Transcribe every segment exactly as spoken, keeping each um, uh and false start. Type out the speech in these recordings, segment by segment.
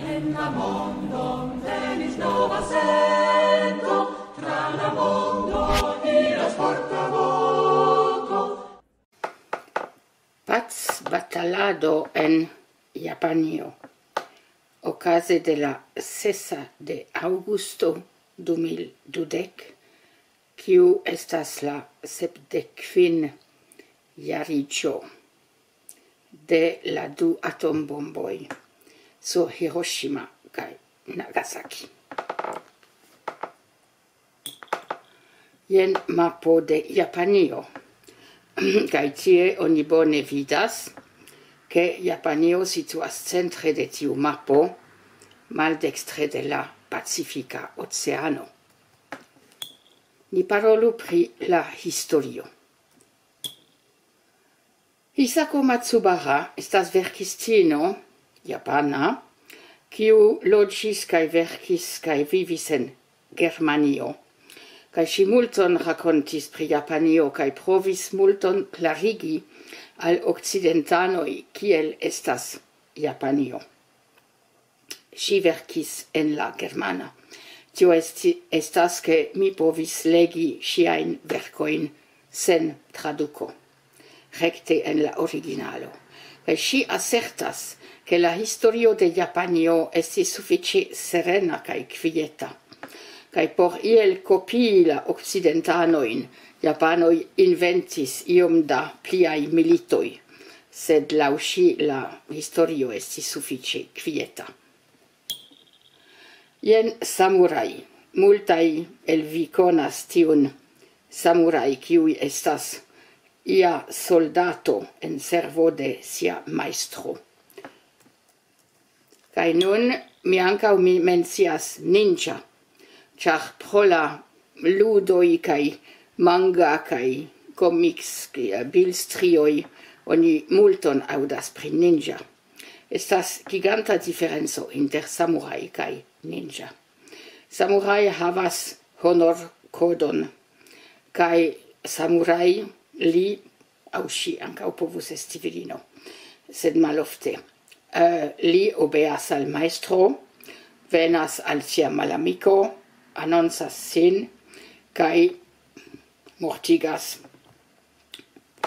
En la mondon venis nova sento, tra la mondo iras porta voko. Pacbatalado en Japanio. Okaze de la sesa de aŭgusto du mil dudek, kiu estas la sepdek kvin jariĝo de la du atombomboj sur Hiroshima kaj Nagasaki. Jen mapo de Japanio. Kaj tie oni bone vidas, ke Japanio situas centre de tiu mapo, maldekstre de la Pacifika Oceano. Ni parolu pri la historio. Hisako Matsubara estas verkistino japana, kiu loĝis kaj verkis kaj vivis en Germanio. Kaj ŝi multon rakontis pri Japanio kaj provis multon klarigi al okcidentanoj, kiel estas Japanio. Ŝi verkis en la germana. Tio esti, estas, ke mi povis legi ŝiajn verkojn sen traduko, rekte en la originalo. Kaj ŝi asertas, ke la historio de Japanio estis sufiĉe serena kaj kvieta. Kaj por iel kopii la okcidentanojn, japanoj inventis iom da pliaj militoj, sed laŭ ŝi la historio estis sufiĉe kvieta. Jen samuraj. Multaj el vi konas tiun samuraj, kiuj estas ia soldato en servo de sia majstro. Kaj nun mi ankaŭ mi mencias ninja, ĉar pro la ludoj kaj manga kaj komiks, kaj bilstrioj oni multon aŭdas pri ninja. Estas giganta diferenco inter samuraj kaj ninja. Samuraj havas honorkodon, kaj samuraj, li aŭ ŝi ankaŭ povus esti virino, sed malofte. Eh, li obeas al majstro, venas al sia malamiko, anoncas sin kaj mortigas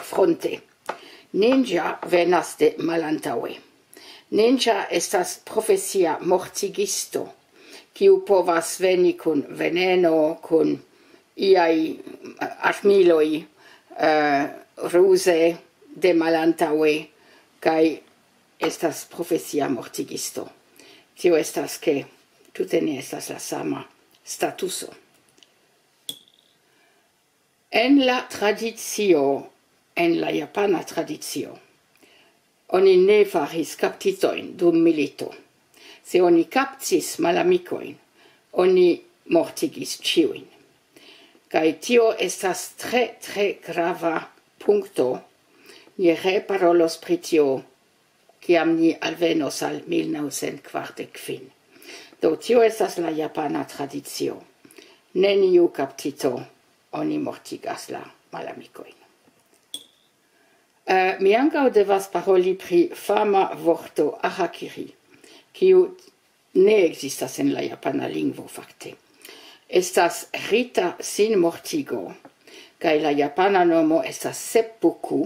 fronte. Ninja venas de malantaŭe. Ninja estas profesia mortigisto, kiu povas veni kun veneno, kun iaj armiloj, eh, ruze de malantaŭe, kaj estas profesia mortigisto. Tio estas, ke tute ne estas la sama statuso. En la tradicio, en la japana tradicio, oni ne faris kaptitojn dum milito. Se oni kaptis malamikojn, oni mortigis ĉiujn. Kaj tio estas tre, tre grava punkto. Ni reparolos pri tio, kiam ni alvenos al mil naŭcent kvardek kvin. Do, tio estas la japana tradicio. Neniu kaptito, oni mortigas la malamikojn. Eh, mi ankaŭ devas paroli pri fama vorto harakiri, kiu ne ekzistas en la japana lingvo, fakte. Estas rita sinmortigo, kaj la japana nomo estas seppuku,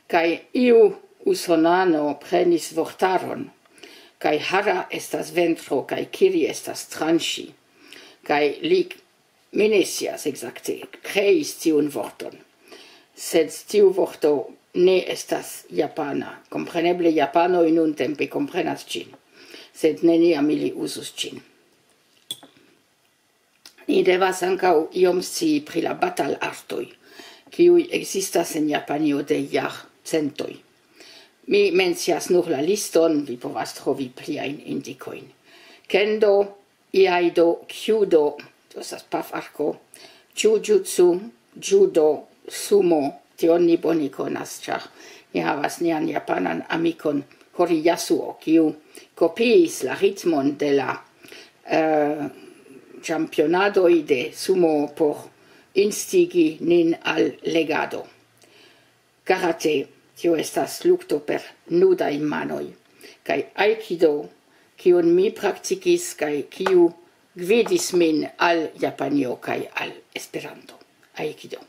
kaj iu usonano prenis vortaron, kaj hara estas ventro, kaj kiri estas tranĉi, kaj li, mi ne scias ekzakte, kreis tiun vorton. Sed tiu vorto ne estas japana. Kompreneble japanoj nuntempe komprenas ĝin, sed neniam ili uzus ĝin. Ni devas ankaŭ iom scii pri la batalartoj, kiuj ekzistas en Japanio de jarcentoj. Mi mencias nur la liston, vi povas trovi pliajn indikojn. Kendo, iaido, kyudo, to estas pafarko, jujutsu, judo, sumo, tion ni bone konas, ĉar ni havas nian japanan amikon Hori Yasuo, kiu kopiis la ritmon de la, eh, ĉampionadoj de sumo por instigi nin al legado. Karate, tio estas lukto per nudaj manoj, kaj aikido, kiun mi praktikis kaj kiu gvidis min al Japanio kaj al Esperanto, Aikido.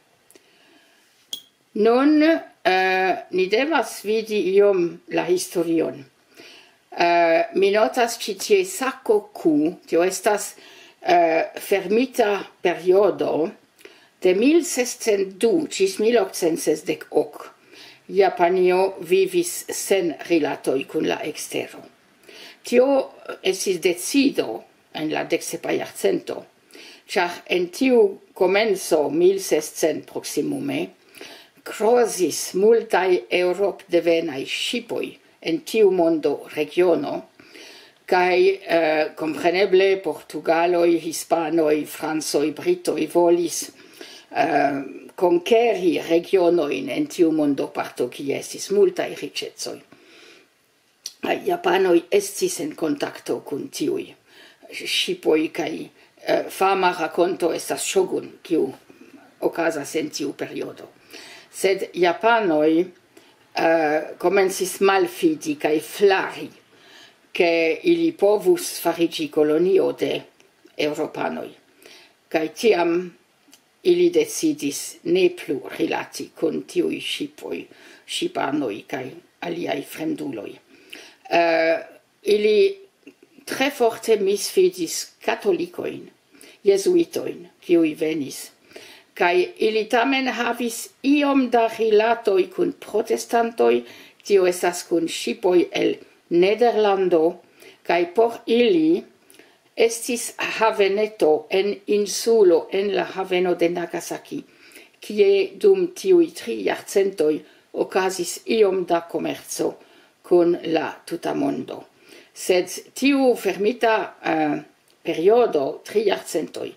Nun eh, ni devas vidi iom la historion. Eh, mi notas ĉi tie Sakoku, tio estas eh, fermita periodo de mil sescent du ĝis mil okcent sesdek ok. Japanio vivis sen rilatoj kun la ekstero. Tio estis decido en la deksepa jarcento, ĉar en tiu komenco mil sescent proksimume krozis multaj eŭropdevenaj ŝipoj en tiu mondo regiono, kaj eh, kompreneble portugaloj, hispanoj, francoj, britoj volis eh, konkeri regionojn en tiu mondoparto, kie estis multaj riĉecoj. Japanoj estis en kontakto kun tiuj ŝipoj, kaj eh, fama rakonto estas Shogun, kiu okazas en tiu periodo. Sed japanoj eh, komencis malfidi kaj flari, ke ili povus fariĝi kolonio de eŭropanoj. Kaj tiam ili decidis ne plu rilati kun tiuj ŝipoj, ŝipanoj kaj aliaj fremduloj. Eh, ili tre forte misfidis katolikojn, jezuitojn, kiuj venis. Kaj ili tamen havis iom da rilatoj kun protestantoj, tio estas kun ŝipoj el Nederlando, kaj por ili estis haveneto en insulo, en la haveno de Nagasaki, kie dum tiuj tri jarcentoj okazis iom da komerco kun la tuta mondo. Sed tiu fermita eh, periodo, tri jarcentoj,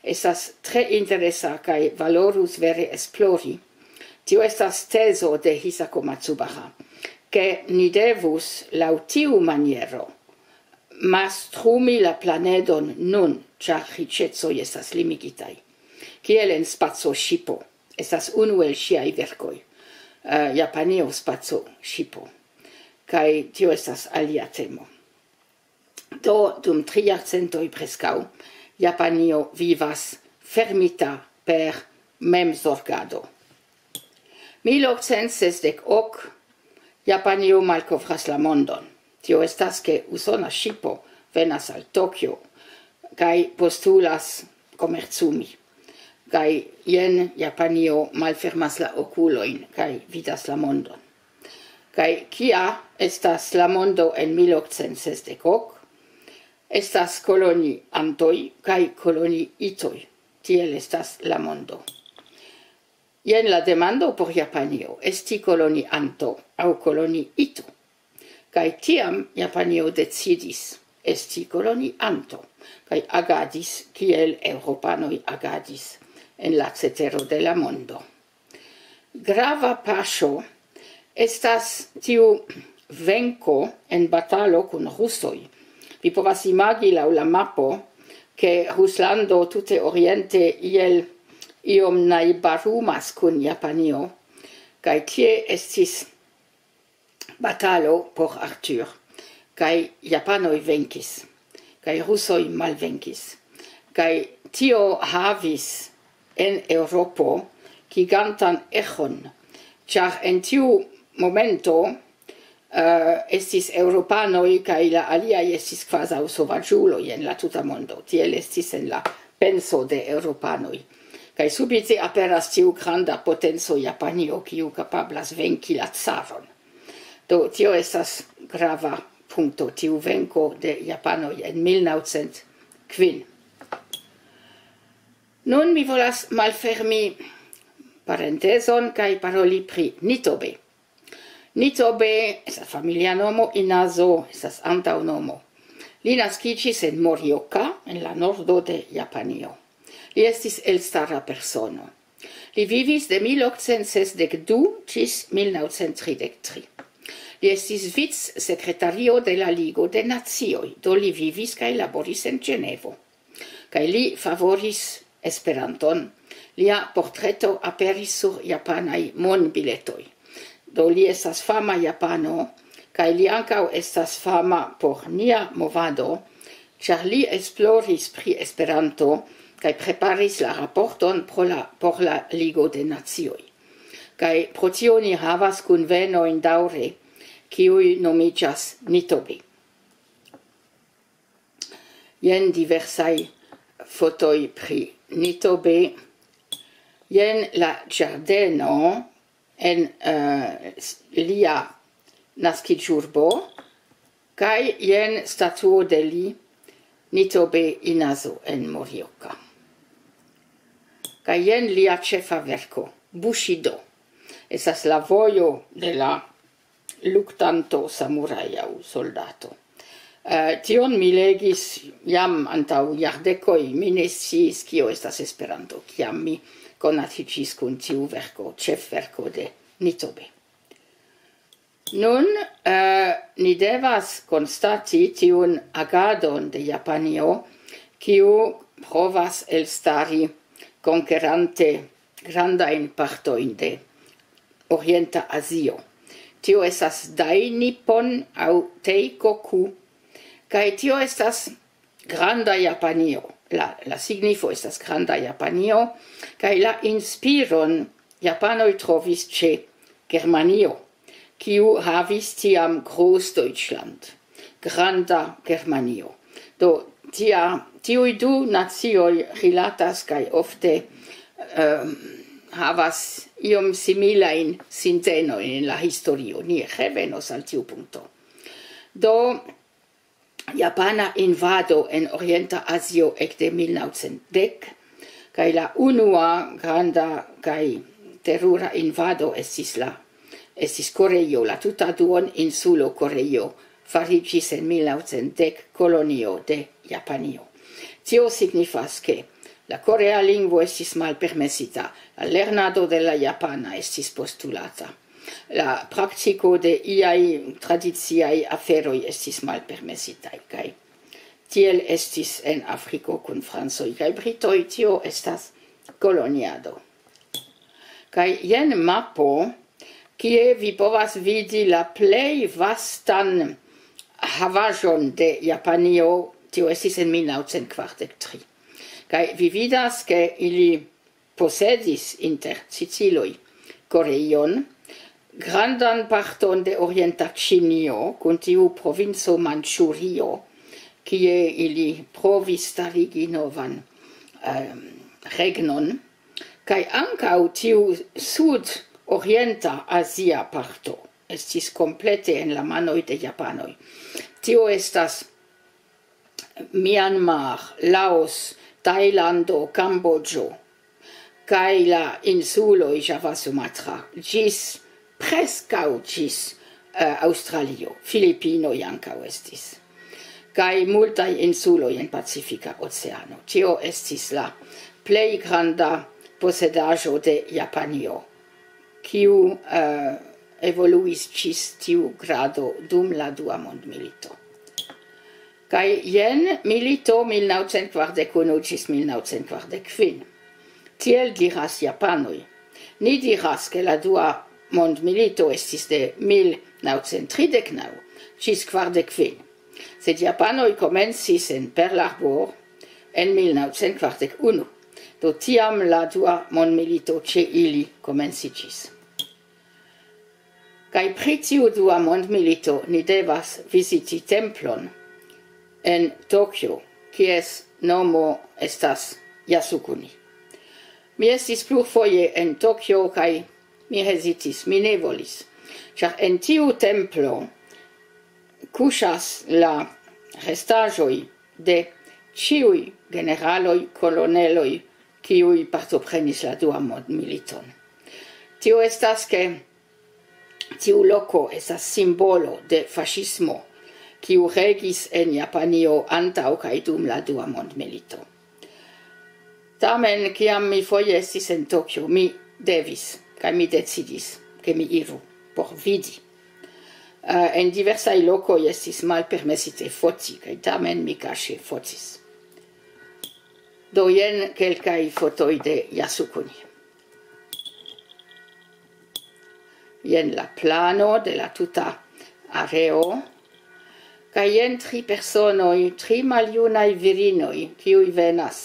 estas tre interesa kaj valorus vere esplori. Tio estas tezo de Hisako Matsubara, ke ni devus laŭ tiu maniero mastrumi la planedon nun, ĉar riĉecoj estas limigitaj. Kiel en spaco ŝipo, estas unu el ŝiaj verkoj, eh, Japanio spaco ŝipo. Kaj tio estas alia temo. Do, dum tri jarcentoj preskaŭ, Japanio vivas fermita per memzorgado. Mil okcent sesdek ok, Japanio malkovras la mondon. Tio estas, ke usona ŝipo venas al Tokio kaj postulas komercumi. Kaj jen Japanio malfermas la okulojn kaj vidas la mondon. Kaj kia estas la mondo en mil okcent sesdek ok? Estas koloniantoj kaj koloniitoj. Tiel estas la mondo. Jen la demando por Japanio: esti kolonianto aŭ koloniito? Kaj tiam Japanio decidis esti kolonianto, kaj agadis kiel eŭropanoj agadis en la cetero de la mondo. Grava paŝo estas tiu venko en batalo kun rusoj. Vi povas imagi laŭ la mapo, ke Ruslando tute oriente iel iom najbarumas kun Japanio, kaj tie estis batalo por Arthur, kaj japanoj venkis, kaj rusoj malvenkis. Kaj tio havis en Eŭropo gigantan eĥon, ĉar en tiu momento eh, estis eŭropanoj, kaj la aliaj estis kvazaŭ sovaĝuloj en la tuta mondo. Tiel estis en la penso de eŭropanoj. Kaj subite aperas tiu granda potenco Japanio, kiu kapablas venki la caron. Do, tio estas grava punkto, tiu venko de japanoj en mil naŭcent kvin. Nun mi volas malfermi parentezon kaj paroli pri Nitobe. Nitobe estas familia nomo, Inazo estas antaŭnomo. Li naskiĝis en Morioka, en la nordo de Japanio. Li estis elstara persono. Li vivis de mil okcent sesdek du ĝis mil naŭcent tridek tri. Li estis vicsekretario de la Ligo de Nacioj, do li vivis kaj laboris en Ĝenevo. Kaj li favoris Esperanton. Lia portreto aperis sur japanaj monbiletoj. Do li estas fama japano, Kaj li ankaŭ estas fama por nia movado, ĉar li esploris pri Esperanto kaj preparis la raporton pro la, por la Ligo de Nacioj. Kaj pro tio ni havas kunvenojn daŭre, kiuj nomiĝas Nitobe. Jen diversaj fotoj pri Nitobe. Jen la ĝardeno en, eh, s-, lia naskiĝurbo, kaj jen statuo de li, Nitobe Inazo en Morioka. Kaj jen lia ĉefa verko, Bushido. Estas la vojo de la luktanto, samuraj aŭ soldato. Eh, tion mi legis jam antaŭ jardekoj, mi ne sciis, kio estas Esperanto, kiam mi konatiĝis kun tiu verko, ĉefverko de Nitobe. Nun, eh, ni devas konstati tiun agadon de Japanio, kiu provas elstari konkerante grandajn partojn de Orienta Azio. Tio estas Dainippon aŭ Teikoku, kaj tio estas Granda Japanio. La, la signifo estas Granda Japanio, kaj la inspiron japanoj trovis ĉe Germanio, kiu havis tiam Großdeutschland, Granda Germanio. Do, tia, tiuj du nacioj rilatas kaj ofte, ehm, havas iom similajn sintenojn en la historio. Ni revenos al tiu punkto. Do, japana invado en Orienta Azio ekde mil naŭcent dek, kaj la unua granda kaj terura invado estis la, estis Koreio, la tuta duoninsulo Koreio fariĝis en mil naŭcent dek kolonio de Japanio. Tio signifas, ke la korea lingvo estis malpermesita, la lernado de la japana estis postulata, la praktiko de iaj tradiciaj aferoj estis malpermesitaj, kaj tiel estis en Afriko kun francoj kaj britoj, tio estas koloniado. Kaj jen mapo, kie vi povas vidi la plej vastan havaĵon de Japanio, tio estis en mil naŭcent kvardek tri. Kaj vi vidas, ke ili posedis inter Siciloj Koreion, grandan parton de orienta Ĉinio, kun tiu provinco Manĉurio, kie ili provis starigi novan, ehm, regnon, kaj ankaŭ tiu sud-orienta azia parto estis komplete en la manoj de japanoj. Tio estas Myanmar, Laos, Tajlando, Kamboĝo, kaj la insuloj Java, Sumatra, ĝis, preskaŭ ĝis, eh, Aŭstralio. Filipinoj ankaŭ estis. Kaj multaj insuloj en Pacifika Oceano. Tio estis la plej granda posedaĵo de Japanio, kiu, eh, evoluis ĝis tiu grado dum la Dua Mondmilito. Kaj jen milito mil naŭcent kvardek unu ĝis mil naŭcent kvardek kvin. Tiel diras japanoj. Ni diras, ke la Dua Mondmilito estis de mil naŭcent tridek naŭ ĝis kvardek kvin. Sed japanoj komencis en Pearl Harbor en mil naŭcent kvardek unu. Do tiam la Dua Mondmilito ĉe ili komenciĝis. Kaj pri tiu Dua Mondmilito ni devas viziti templon en Tokio, kies nomo estas Yasukuni. Mi estis plurfoje en Tokio kaj mi hezitis, mi ne volis, ĉar en tiu templo kuŝas la restaĵoj de ĉiuj generaloj, koloneloj, kiuj partoprenis la Duan Mondmiliton. Tio estas, ke tiu loko estas simbolo de faŝismo, kiu regis en Japanio antaŭ kaj dum la Dua Mondmilito. Tamen, kiam mi foje estis en Tokio, mi devis, kaj mi decidis, ke mi iru por vidi. Eh, en diversaj lokoj estis malpermesite foti, kaj tamen mi kaŝe fotis. Do jen kelkaj fotoj de Yasukuni. Jen la plano de la tuta areo, kaj jen tri personoj, tri maljunaj virinoj, kiuj venas.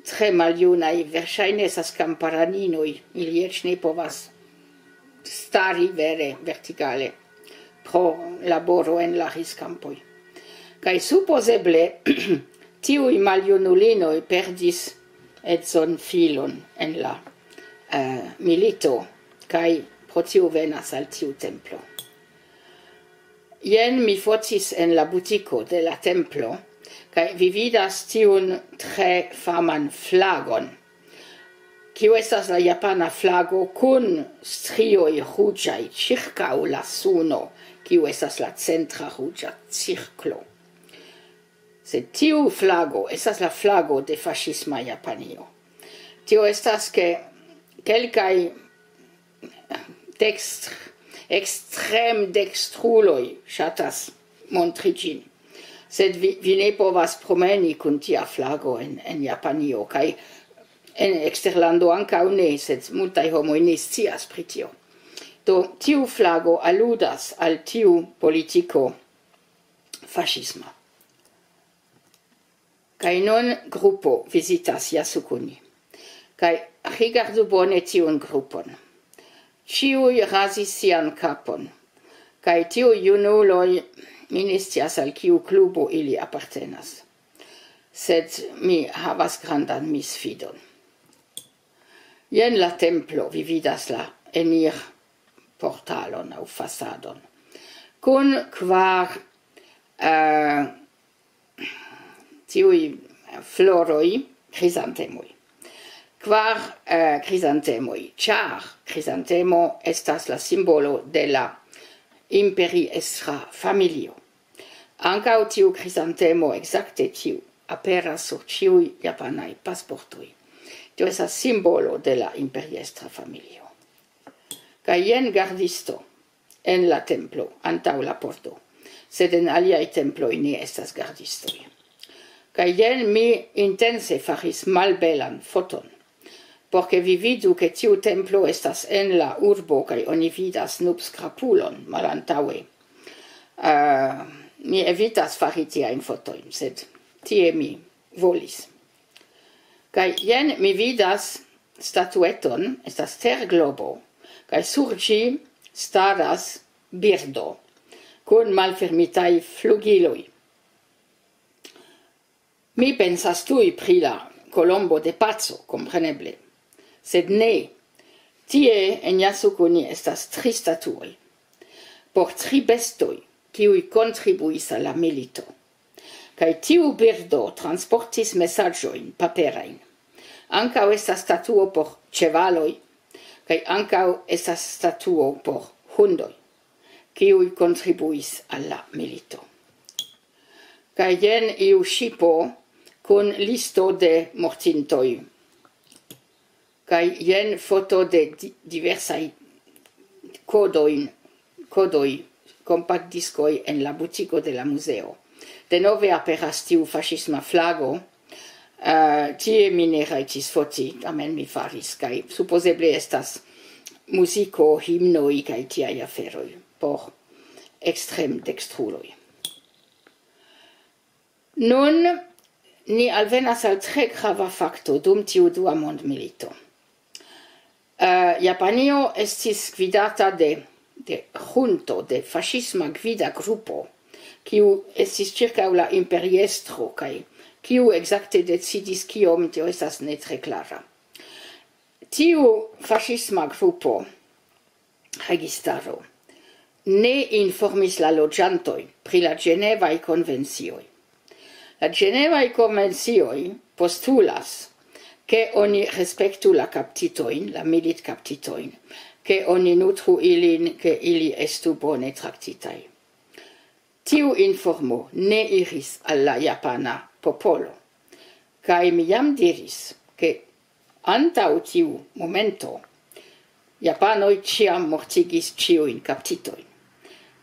Tre maljunaj, verŝajne estas kamparaninoj, ili eĉ ne povas stari vere vertikale pro laboro en la riskampoj. Kaj supozeble tiuj maljunulinoj perdis edzon, filon en la eh, milito, kaj pro tio venas al tiu templo. Jen mi fotis en la butiko de la templo, kaj vi vidas tiun tre faman flagon, kiu estas la japana flago kun strioj ruĝaj ĉirkaŭ la suno, kiu estas la centra ruĝa cirklo. Sed tiu flago estas la flago de faŝisma Japanio. Tio estas, ke kelkaj dekstr-, ekstrem-dekstruloj ŝatas montri ĝin. Sed vi, vi ne povas promeni kun tia flago en, en Japanio, kaj en eksterlando ankaŭ ne, sed multaj homoj ne scias pri tio. Do, tiu flago aludas al tiu politiko faŝisma. Kaj nun grupo vizitas Yasukuni. Kaj rigardu bone tiun grupon. Ĉiuj razis sian kapon. Kaj tiuj junuloj, mi ne scias, al kiu klubo ili apartenas. Sed mi havas grandan misfidon. Jen la templo, vi vidas la enir portalon aŭ fasadon. Kun kvar eh, tiuj floroj, krizantemoj. Kvar eh, krizantemoj, ĉar krizantemo estas la simbolo de la imperiestra familio. Ankaŭ tiu krizantemo, ekzakte tiu, aperas sur ĉiuj japanaj pasportoj. Tio estas simbolo de la imperiestra familio. Kaj jen gardisto en la templo, antaŭ la porto. Sed en aliaj temploj ne estas gardistoj. Kaj jen mi intense faris malbelan foton, por ke vi vidu, ke tiu templo estas en la urbo, kaj oni vidas nubskrapulon malantaŭe. Eh, mi evitas fari tiajn fotojn, sed tie mi volis. Kaj jen mi vidas statueton, estas terglobo, kaj sur ĝi staras birdo kun malfermitaj flugiloj. Mi pensas tuj pri la kolombo de paco, kompreneble. Sed ne, tie en Yasukuni estas tri statuoj por tri bestoj, kiuj kontribuis al la milito. Kaj tiu birdo transportis mesaĝojn paperajn. Ankaŭ estas statuo por ĉevaloj, kaj ankaŭ estas statuo por hundoj, kiuj kontribuis al la milito. Kaj jen iu ŝipo kun listo de mortintoj. Kaj jen foto de di-, diversaj kodojn, kodoj, kompaktdiskoj en la butiko de la muzeo. Denove aperas tiu faŝisma flago. Eh, tie mi ne rajtis foti, tamen mi faris, kaj supozeble estas muziko, himnoj kaj tiaj aferoj por ekstrem-dekstruloj. Nun ni alvenas al tre grava fakto dum tiu dua mondmilito. Eh, Japanio estis gvidata de, de junto, de faŝisma gvida grupo, kiu estis ĉirkaŭ la imperiestro, kaj kiu ekzakte decidis kiom, tio estas ne tre klara. Tiu faŝisma grupo, registaro, ne informis la loĝantojn pri la Ĝenevaj konvencioj. La Ĝenevaj konvencioj postulas, ke oni respektu la kaptitojn, la militkaptitojn, ke oni nutru ilin, ke ili estu bone traktitaj. Tiu informo ne iris al la japana popolo, kaj mi jam diris, ke antaŭ tiu momento japanoj ĉiam mortigis ĉiujn kaptitojn.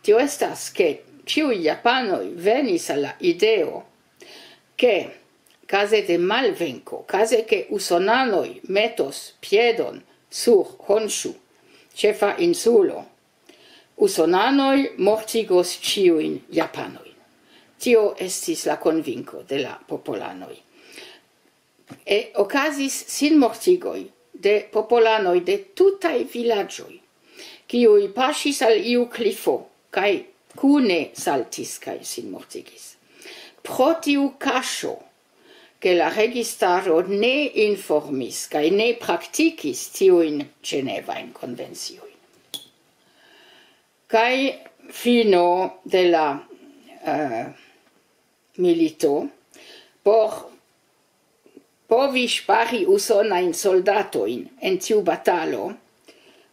Tio estas, ke ĉiuj japanoj venis al la ideo, ke kaze de malvenko, kaze ke usonanoj metos piedon sur Honshu, ĉefa insulo, Usonanoj mortigos ĉiujn japanojn. Tio estis la konvinko de la popolanoj. E okazis sinmortigoj de popolanoj de tutaj vilaĝoj, kiuj paŝis al iu klifo kaj kune saltis kaj sinmortigis. Pro tiu kaŝo, ke la registaro ne informis kaj ne praktikis tiujn ĝenevajn konvenciojn. Kaj fino de la, eh, milito, por povi ŝpari usonajn soldatojn en tiu batalo,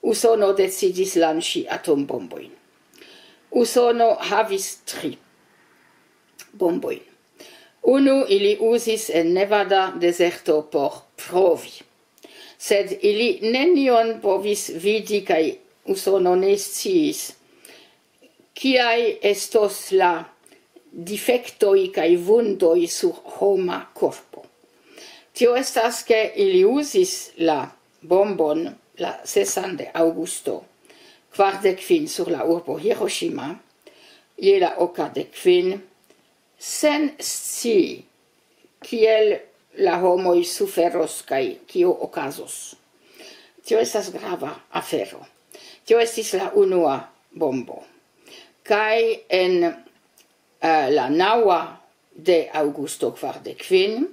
Usono decidis lanĉi atombombojn. Usono havis tri bombojn. Unu ili uzis en Nevada dezerto por provi. Sed ili nenion povis vidi, kaj Usono ne sciis, kiaj estos la difektoj kaj vundoj sur homa korpo. Tio estas, ke ili uzis la bombon la sesan de aŭgusto, kvardek kvin sur la urbo Hiroshima, je la oka de kvin, sen scii, kiel la homoj suferos kaj kio okazos. Tio estas grava afero. Tio estis la unua bombo. Kaj en, eh, la naŭa de aŭgusto kvardek kvin,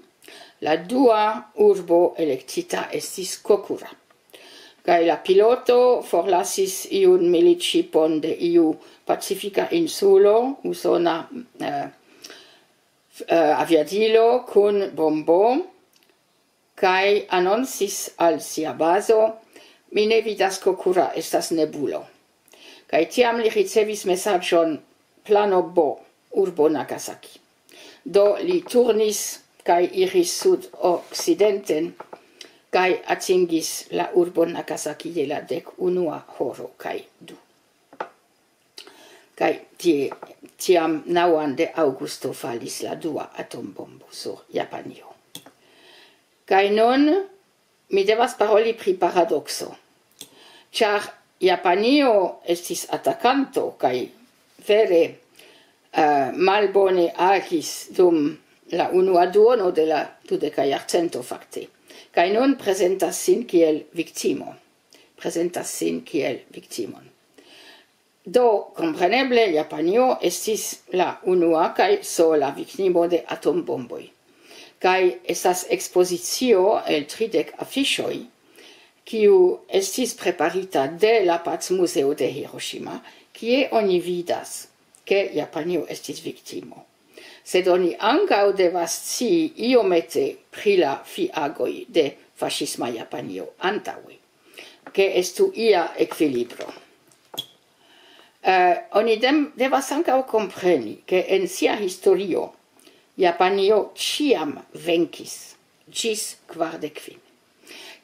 la dua urbo elektita estis Kokura. Kaj la piloto forlasis iun militŝipon de iu pacifika insulo, usona, eh, f-, eh, aviadilo kun bombo, kaj anoncis al sia bazo: "Mi ne vidas Kokura, estas nebulo." Kaj tiam li ricevis mesaĝon: "Plano B, urbo Nagasaki." Do li turnis kaj iris sudokcidenten kaj atingis la urbon Nagasaki je la dek unua horo kaj du. Kaj tie, tiam naŭan de aŭgusto falis la dua atombombo sur Japanio. Kaj nun mi devas paroli pri paradokso, ĉar Japanio estis atakanto kaj vere, eh, malbone agis dum la unua duono de la dudeka jarcento fakte. Kaj nun prezentas sin kiel viktimo. Prezentas sin kiel viktimon. Do, kompreneble, Japanio estis la unua kaj sola viktimo de atombomboj. Kaj estas ekspozicio el tridek afiŝoj, kiu estis preparita de la Pacmuzeo de Hiroshima, kie oni vidas, ke Japanio estis viktimo. Sed oni ankaŭ devas scii iomete pri la fiagoj de faŝisma Japanio antaŭe, ke estu ia ekvilibro. Eh, oni dem-, devas ankaŭ kompreni, ke en sia historio Japanio ĉiam venkis ĝis kvardek kvin.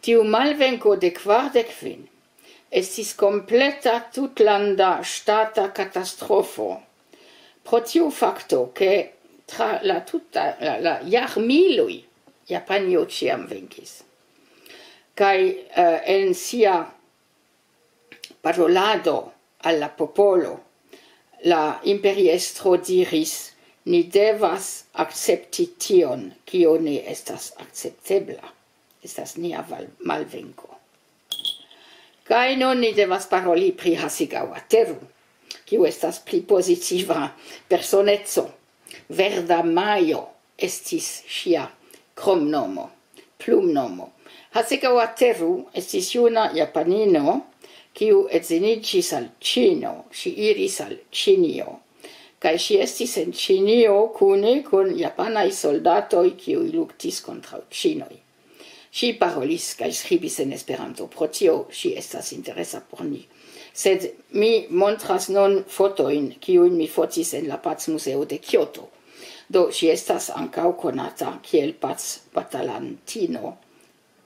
Tiu malvenko de kvardek kvin estis kompleta tutlanda ŝtata katastrofo pro tiu fakto, ke tra la tuta, la, la jarmiloj Japanio ĉiam venkis. Kaj, eh, en sia parolado al la popolo, la imperiestro diris: "Ni devas akcepti tion, kio ne estas akceptebla. Estas nia val-, malvenko." Kaj nun ni devas paroli pri Hasegawa Teru, kiu estas pli pozitiva personeco. Verda Majo estis ŝia kromnomo, plumnomo. Hasegawa Teru estis juna japanino, kiu edziniĝis al Ĉino. Ŝi iris al Ĉinio. Kaj ŝi estis en Ĉinio kune kun japanaj soldatoj, kiuj luktis kontraŭ Ĉinoj. Ŝi parolis kaj skribis en Esperanto, pro tio ŝi estas interesa por ni. Sed mi montras nun fotojn, kiujn mi fotis en la Pacmuzeo de Kioto. Do, ŝi estas ankaŭ konata kiel pacbatalantino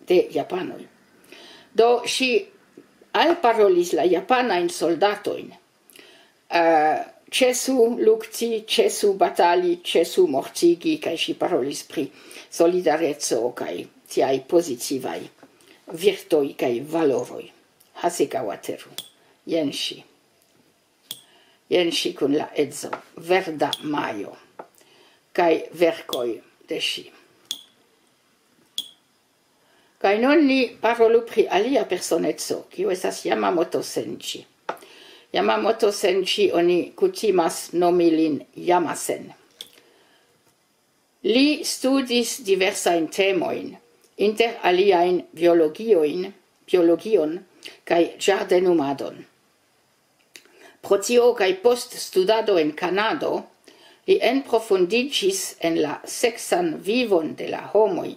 de japanoj. Do, ŝi alparolis la japanajn soldatojn, eh, "Ĉesu lukti, ĉesu batali, ĉesu mortigi", kaj ŝi parolis pri solidareco kaj tiaj pozitivaj virtoj kaj valoroj. Hasegawa Teru. Jen ŝi. Jen ŝi kun la edzo, verda majo, kaj verkoj de ŝi. Kaj nun ni parolu pri alia personeco, kiu estas Yamamoto Senji. Yamamoto Senji, oni kutimas nomi lin Yamasen. Li studis diversajn temojn, inter aliajn biologiojn, biologion kaj ĝardenumadon. Pro tio kaj post studado en Kanado, li enprofundiĝis en la seksan vivon de la homoj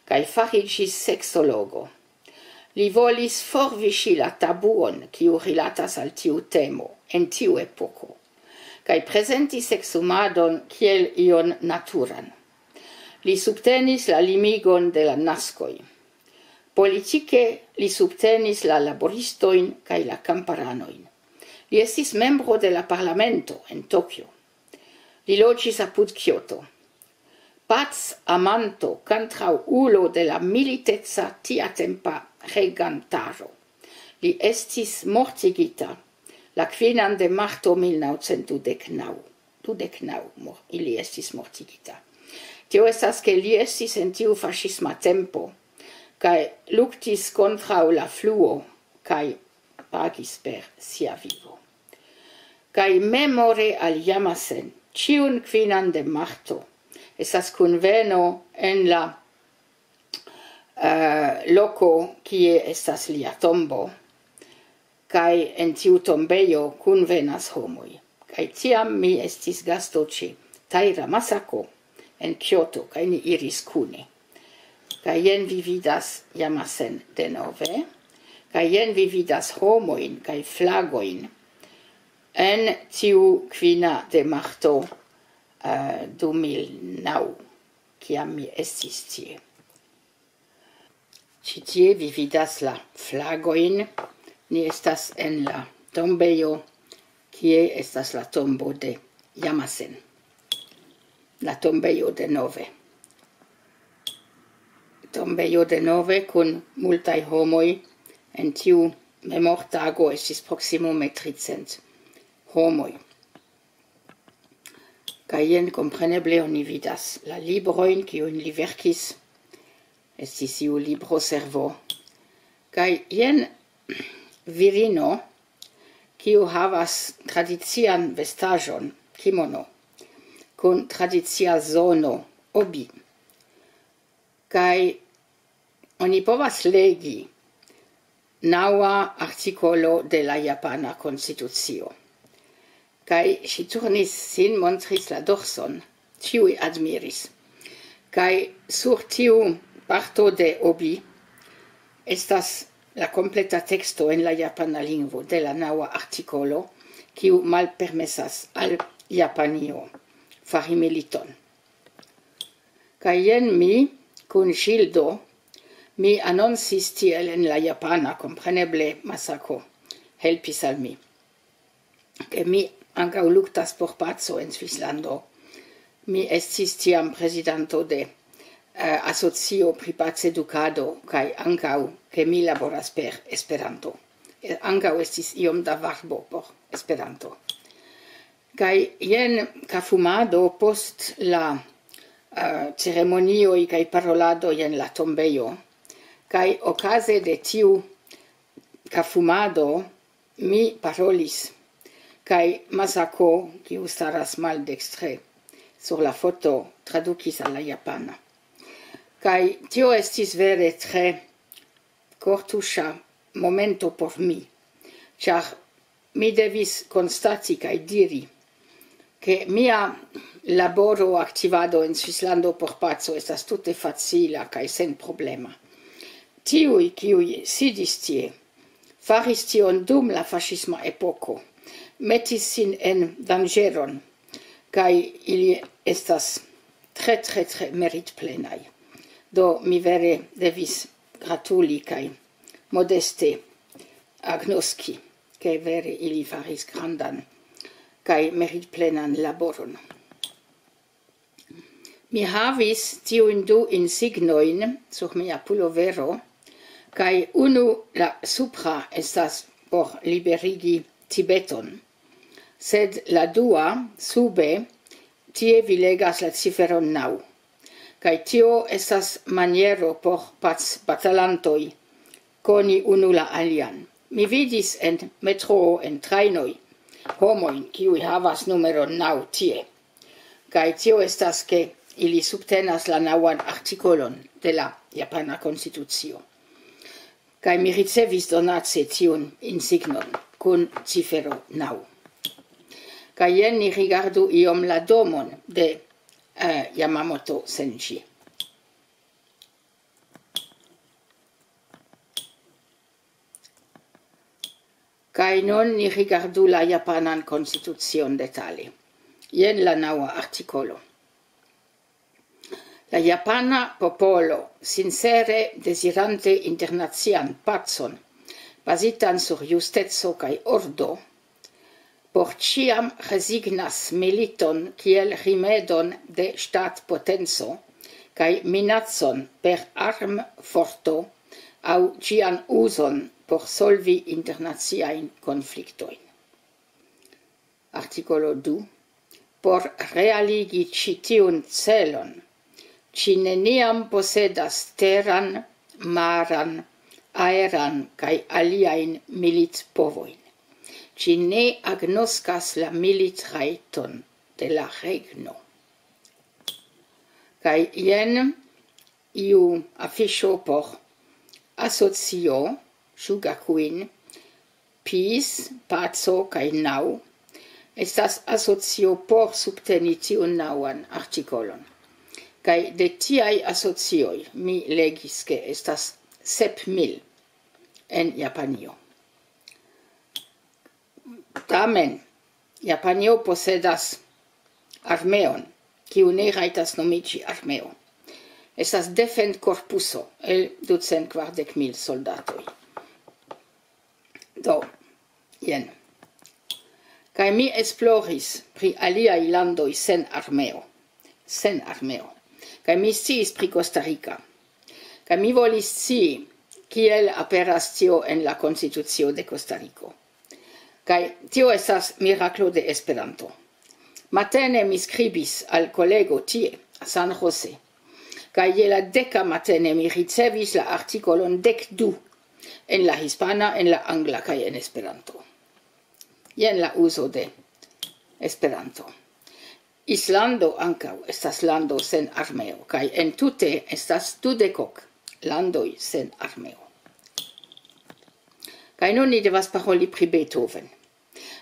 kaj fariĝis seksologo. Li volis forviŝi la tabuon, kiu rilatas al tiu temo en tiu epoko, kaj prezenti seksumadon kiel ion naturan. Li subtenis la limigon de la naskoj. Politike li subtenis la laboristojn kaj la kamparanojn. Li estis membro de la parlamento en Tokio. Li loĝis apud Kioto. Pac amanto, kontraŭulo de la militeca tiatempa regantaro. Li estis mortigita la kvinan de marto mil naŭcent dudek naŭ. Dudek naŭ mor-, ili estis mortigita. Tio estas, ke li estis en tiu faŝisma tempo, kaj luktis kontraŭ la fluo, kaj pagis per sia vivo. Kaj memore al Yamasen, ĉiun kvinan de marto, estas kunveno en la, eh, loko, kie estas lia tombo, kaj en tiu tombejo kunvenas homoj. Kaj tiam mi estis gasto ĉe Taira Masako en Kioto, kaj ni iris kune. Kaj jen vi vidas Yamasen denove, kaj jen vi vidas homojn kaj flagojn en tiu kvina de marto, eh, du mil naŭ, kiam mi estis tie. Ĉi tie vi vidas la flagojn. Ni estas en la tombejo, kie estas la tombo de Yamasen. La tombejo denove. Tombejo denove kun multaj homoj. En tiu memortago estis proksimume tricent homoj. Kaj jen, kompreneble, oni vidas la librojn, kiujn li verkis. Estis iu libroservo. Kaj jen virino, kiu havas tradician vestaĵon, kimono, kun tradicia zono, obi. Kaj oni povas legi naŭa artikolo de la japana konstitucio. Kaj ŝi turnis sin, montris la dorson, ĉiuj admiris. Kaj sur tiu parto de obi estas la kompleta teksto en la japana lingvo de la naŭa artikolo, kiu malpermesas al Japanio fari militon. Kaj jen mi, kun ŝildo, mi anoncis tiel en la japana, kompreneble Masako helpis al mi, ke mi ankaŭ luktas por paco en Svislando. Mi estis tiam prezidanto de, eh, asocio pri pacedukado, kaj ankaŭ ke mi laboras per Esperanto. Eh, ankaŭ estis iom da varbo por Esperanto. Kaj jen kafumado post la, eh, ceremonioj kaj parolado jen la tombejo. Kaj okaze de tiu kafumado mi parolis, kaj Masako, kiu staras maldekstre sur la foto, tradukis al la japana. Kaj tio estis vere tre kortuŝa momento por mi, ĉar mi devis konstati kaj diri, ke mia laboro, aktivado en Svislando por paco estas tute facila kaj senproblema. Tiuj, kiuj sidis tie, faris tion dum la faŝisma epoko, metis sin en danĝeron, kaj ili estas tre, tre, tre meritplenaj. Do mi vere devis gratuli kaj modeste agnoski, ke vere ili faris grandan kaj meritplenan laboron. Mi havis tiujn du insignojn sur mia pulovero, kaj unu, la supra, estas por liberigi Tibeton. Sed la dua, sube, tie vi legas la ciferon naŭ. Kaj tio estas maniero por pacbatalantoj koni unu la alian. Mi vidis en metroo, en trajnoj, homojn, kiuj havas numeron naŭ tie. Kaj tio estas, ke ili subtenas la naŭan artikolon de la japana konstitucio. Kaj mi ricevis donace tiun insignon kun cifero naŭ. Kaj jen ni rigardu iom la domon de, eh, Yamamoto Senji. Kaj nun ni rigardu la japanan konstitucion detale. Jen la naŭa artikolo. La japana popolo, sincere dezirante internacian pacon, bazitan sur justeco kaj ordo, por ĉiam rezignas militon kiel rimedon de ŝtatpotenco kaj minacon per armforto aŭ ĝian uzon por solvi internaciajn konfliktojn. Artikolo du. Por realigi ĉi tiun celon, ĝi neniam posedas teran, maran, aeran kaj aliajn militpovojn. Ĝi ne agnoskas la militrajton de la regno. Kaj jen iu afiŝo por asocio Shugakuin, Peace, paco kaj naŭ. Estas asocio por subteni tiun naŭan artikolon. Kaj de tiaj asocioj mi legis, ke estas sep mil en Japanio. Tamen, Japanio posedas armeon, kiu ne rajtas nomiĝi armeo. Estas defendkorpuso el ducent kvardek mil soldatoj. Do, jen. Kaj mi esploris pri aliaj landoj sen armeo. Sen armeo. Kaj mi sciis pri Costa Rica. Kaj mi volis scii, kiel aperas tio en la konstitucio de Costa Rico. Kaj tio estas miraklo de Esperanto. Matene mi skribis al kolego tie, San Jose. Kaj je la deka matene mi ricevis la artikolon dek du en la hispana, en la angla kaj en Esperanto. Jen la uzo de Esperanto. Islando ankaŭ estas lando sen armeo, kaj entute estas dudekok landoj sen armeo. Kaj nun ni devas paroli pri Beethoven.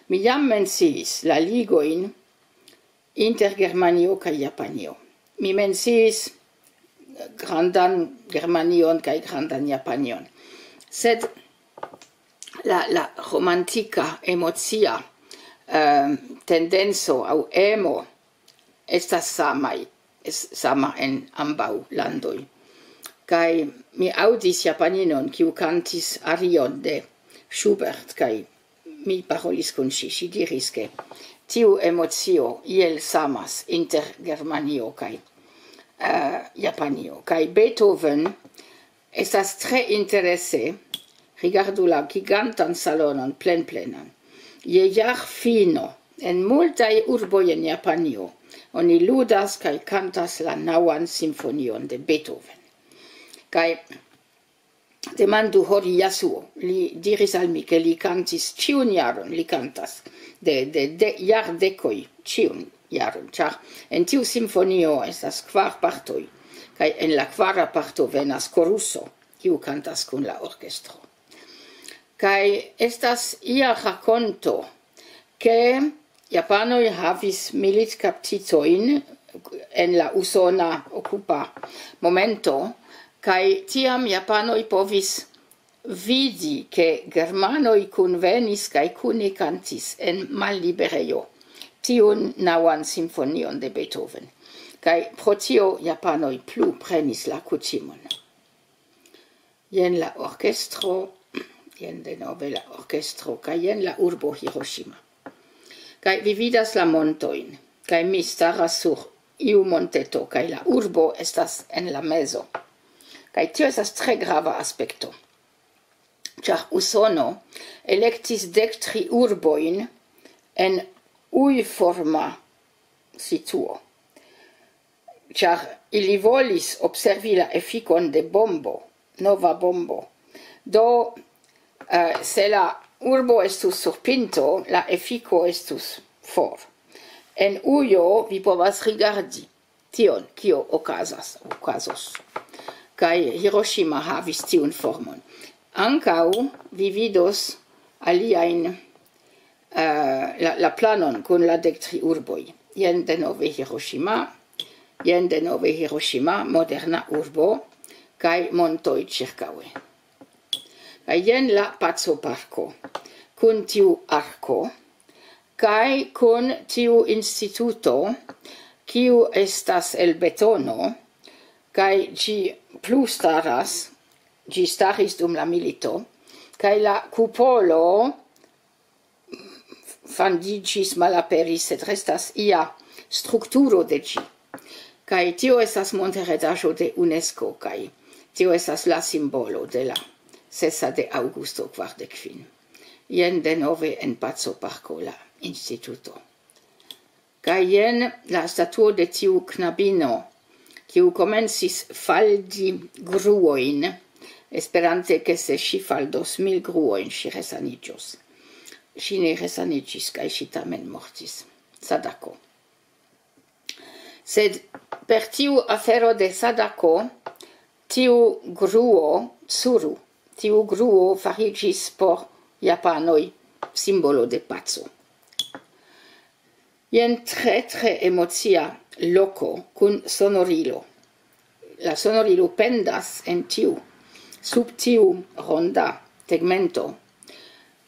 Mi jam menciis la ligojn inter Germanio kaj Japanio. Mi menciis grandan Germanion kaj grandan Japanion. Sed la, la romantika, emocia, ehm, tendenco aŭ emo estas samaj, es-, sama en ambaŭ landoj. Kaj mi aŭdis japaninon, kiu kantis arion de Schubert, kaj mi parolis kun ŝi. Ŝi diris, ke tiu emocio iel samas inter Germanio kaj, eh, Japanio. Kaj Beethoven estas tre interese, rigardu la gigantan salonon plenplenan. Je jarfino, en multaj urboj en Japanio, oni ludas kaj kantas la naŭan simfonion de Beethoven. Kaj demandu Hori Yasuo, li diris al mi, ke li kantis ĉiun jaron, li kantas de, de, de jardekoj ĉiun jaron, ĉar en tiu simfonio estas kvar partoj, kaj en la kvara parto venas koruso, kiu kantas kun la orkestro. Kaj estas ia rakonto, ke japanoj havis militkaptitojn en la usona okupa momento, kaj tiam japanoj povis vidi, ke germanoj kunvenis kaj kune kantis en malliberejo tiun naŭan simfonion de Beethoven. Kaj pro tio japanoj plu prenis la kutimon. Jen la orkestro, jen denove la orkestro, kaj jen la urbo Hiroshima. Kaj vi vidas la montojn, kaj mi staras sur iu monteto, kaj la urbo estas en la mezo. Kaj tio estas tre grava aspekto, ĉar Usono elektis dek tri urbojn en uj-forma situo, ĉar ili volis observi la efikon de bombo, nova bombo. Do, eh, se la urbo estus sur pinto, la efiko estus for. En ujo vi povas rigardi tion, kio okazas, okazos. Kaj Hiroshima havis tiun formon. Ankaŭ vi vidos aliajn, eh, la, la planon kun la dek tri urboj. Jen denove Hiroshima, jen denove Hiroshima, moderna urbo, kaj montoj ĉirkaŭe. Kaj jen la Paco Parko, kun tiu arko, kaj kun tiu instituto, kiu estas el betono, kaj ĝi plu staras, ĝi staris dum la milito, kaj la kupolo fandiĝis, malaperis, sed restas ia strukturo de ĝi. Kaj tio estas monteredaĵo de UNESCO, kaj tio estas la simbolo de la sesa de aŭgusto kvardek kvin. Jen denove en Paco Parko la instituto. Kaj jen la statuo de tiu knabino, kiu komencis faldi gruojn, esperante, ke se ŝi faldos mil gruojn, ŝi resaniĝos. Ŝi ne resaniĝis, kaj ŝi tamen mortis. Sadako. Sed per tiu afero de Sadako, tiu gruo, Tsuru, tiu gruo fariĝis por japanoj simbolo de paco. Jen tre, tre emocia loko kun sonorilo. La sonorilo pendas en tiu, sub tiu ronda tegmento,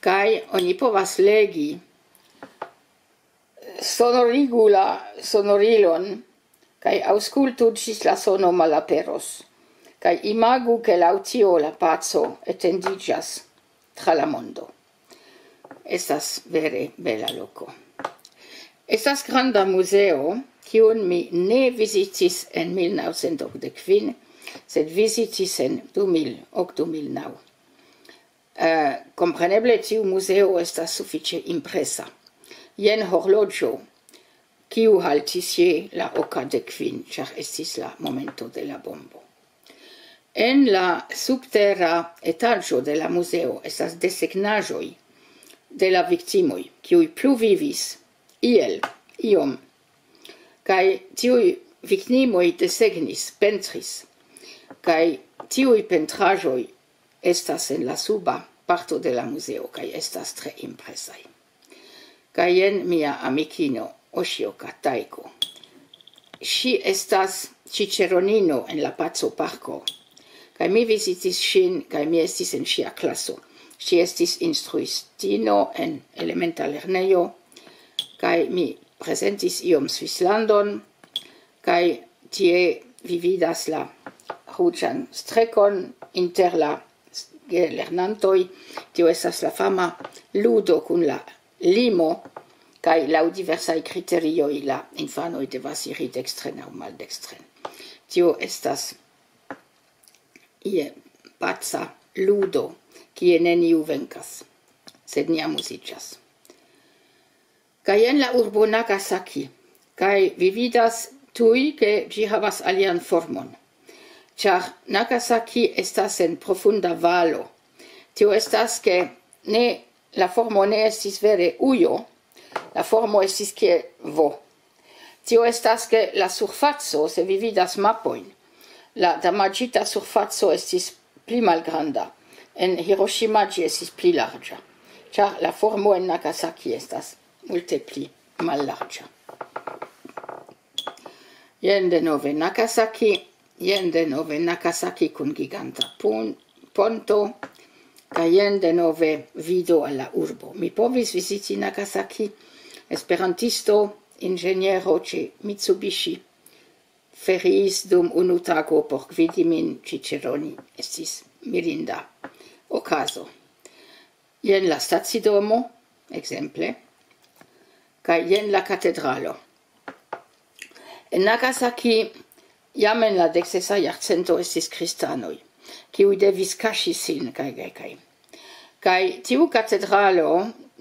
kaj oni povas legi: "Sonorigu la sonorilon, kaj aŭskultu ĝis la sono malaperos, kaj imagu, ke laŭ tio la paco etendiĝas tra la mondo." Estas vere bela loko. Estas granda muzeo, kiun mi ne vizitis en mil naŭcent okdek kvin, sed vizitis en du mil ok, du mil naŭ. Eh, kompreneble tiu muzeo estas sufiĉe impresa. Jen horloĝo, kiu haltis je la okdek kvin, ĉar estis la momento de la bombo. En la subtera etaĝo de la muzeo estas desegnaĵoj de la viktimoj, kiuj pluvivis iel iom. Kaj tiuj viktimoj desegnis, pentris. Kaj tiuj pentraĵoj estas en la suba parto de la muzeo, kaj estas tre impresaj. Kaj jen mia amikino Oshioka Taiko. Ŝi estas ĉiĉeronino en la Paco Parko. Kaj mi vizitis ŝin, kaj mi estis en ŝia klaso. Ŝi estis instruistino en elementa lernejo, kaj mi prezentis iom Svislandon, kaj tie vi vidas la ruĝan strekon inter la lernantoj. Tio estas la fama ludo kun la limo, kaj laŭ diversaj kriterioj la infanoj devas iri dekstren aŭ maldekstren. Tio estas ie paca ludo, kie neniu venkas, sed ni amuziĝas. Kaj jen la urbo Nagasaki, kaj vi vidas tuj, ke ĝi havas alian formon. Ĉar Nagasaki estas en profunda valo. Tio estas, ke ne, la formo ne estis vere ujo, la formo estis kie V. Tio estas, ke la surfaco, se vi vidas mapojn, la damaĝita surfaco estis pli malgranda. En Hiroshima ĝi estis pli larĝa, ĉar la formo en Nagasaki estas multe pli mallarĝa. Jen denove Nagasaki, jen denove Nagasaki kun giganta pon-, ponto, kaj jen denove vido al la urbo. Mi povis viziti Nagasaki, esperantisto, inĝeniero ĉe Mitsubishi, feriis dum unu tago por gvidi min ĉiĉeroni. Estis mirinda okazo. Jen la stacidomo, ekzemple, kaj jen la katedralo. En Nagasaki jam en la deksesa jarcento estis kristanoj, kiuj devis kaŝi sin kaj, kaj, kaj. Kaj tiu katedralo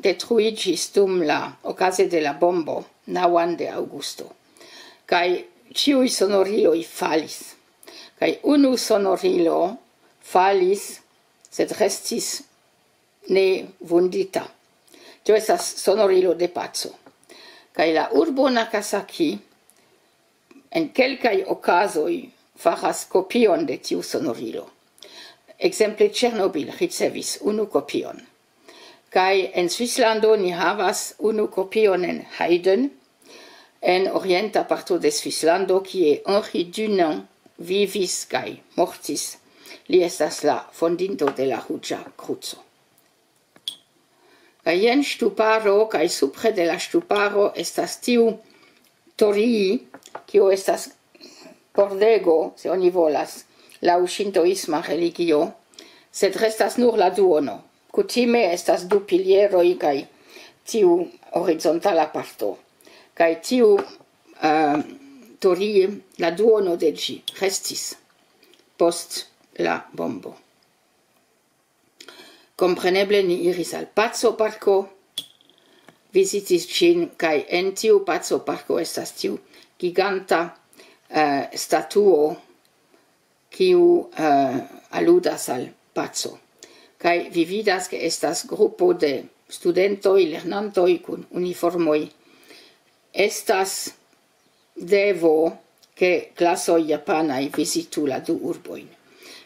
detruiĝis dum la, okaze de la bombo, naŭan de aŭgusto. Kaj ĉiuj sonoriloj falis. Kaj unu sonorilo falis, sed restis ne vundita. Tio estas sonorilo de paco. Kaj la urbo Nagasaki en kelkaj okazoj faras kopion de tiu sonorilo. Ekzemple, Ĉernobil ricevis unu kopion. Kaj en Svislando ni havas unu kopion en Heiden, en orienta parto de Svislando, kie Henri Dunant vivis kaj mortis. Li estas la fondinto de la Ruĝa Kruco. Kaj jen ŝtuparo, kaj supre de la ŝtuparo estas tiu torii, kio estas pordego, se oni volas, laŭ ŝintoisma religio, sed restas nur la duono. Kutime estas du pilieroj kaj tiu horizontala parto. Kaj tiu, eh, torii, la duono de ĝi restis post la bombo. Kompreneble ni iris al Paco Parko, vizitis ĝin, kaj en tiu Paco Parko estas tiu giganta, eh, statuo, kiu, eh, aludas al paco. Kaj vi vidas, ke estas grupo de studentoj, lernantoj kun uniformoj. Estas devo, ke klasoj japanaj vizitu la du urbojn.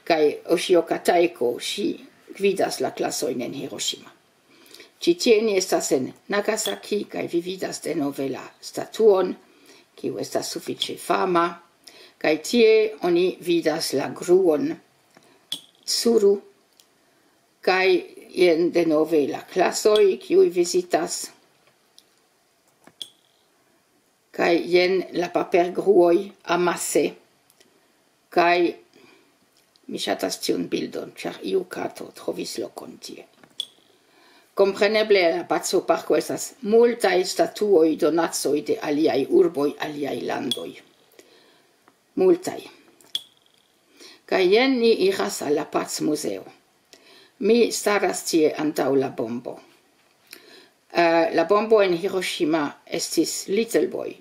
Kaj Oshio Kataeko, ŝi gvidas la klasojn en Hiroshima. Ĉi tie ni estas en Nagasaki, kaj vi vidas denove la statuon, kiu estas sufiĉe fama. Kaj tie oni vidas la gruon Suru, kaj jen denove la klasoj, kiuj vizitas. Kaj jen la papergruoj amase. Kaj mi ŝatas tiun bildon, ĉar iu kato trovis lokon tie. Kompreneble, la Paco Parko estas multaj statuoj, donacoj de aliaj urboj, aliaj landoj. Multaj. Kaj jen ni iras al la Pac Muzeo. Mi staras tie antaŭ la bombo. Eh, la bombo en Hiroshima estis Little Boy,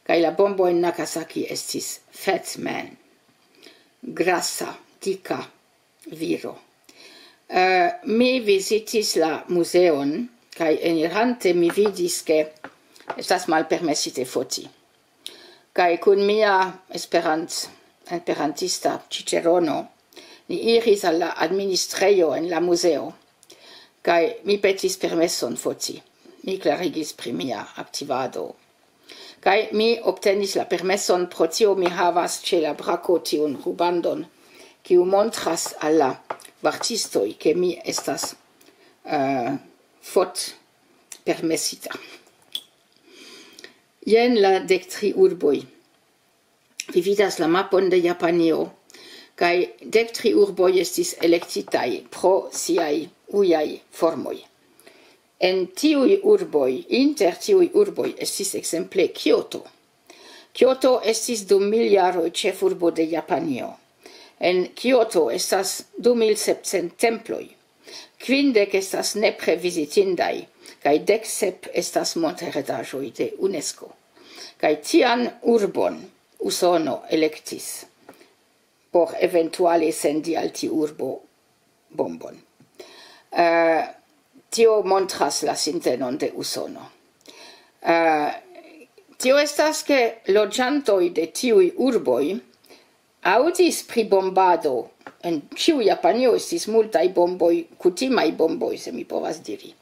kaj la bombo en Nagasaki estis Fat Man, grasa, dika viro. Eh, mi vizitis la muzeon, kaj enirante mi vidis, ke estas malpermesite foti. Kaj kun mia esperant-, esperantista ĉiĉerono, ni iris al la administrejo en la muzeo, kaj mi petis permeson foti. Mi klarigis pri mia aktivado. Kaj mi obtenis la permeson, pro tio mi havas ĉe la brako tiun rubandon, kiu montras al la vartistoj, ke mi estas, eh, fotpermesita. Jen la dek tri urboj. Vi vidas la mapon de Japanio, kaj dek tri urboj estis elektitaj pro siaj ujaj formoj. En tiuj urboj, inter tiuj urboj estis ekzemple Kioto. Kioto estis dum mil jaroj ĉefurbo de Japanio. En Kioto estas du mil sepcent temploj. Kvindek estas nepre vizitindaj, kaj dek sep estas montheredaĵoj de UNESCO. Kaj tian urbon Usono elektis por eventuale sendi al tiu urbo bombon. Eh, tio montras la sintenon de Usono. Eh, tio estas, ke loĝantoj de tiuj urboj aŭdis pri bombado. En ĉiu Japanio estis multaj bomboj, kutimaj bomboj, se mi povas diri.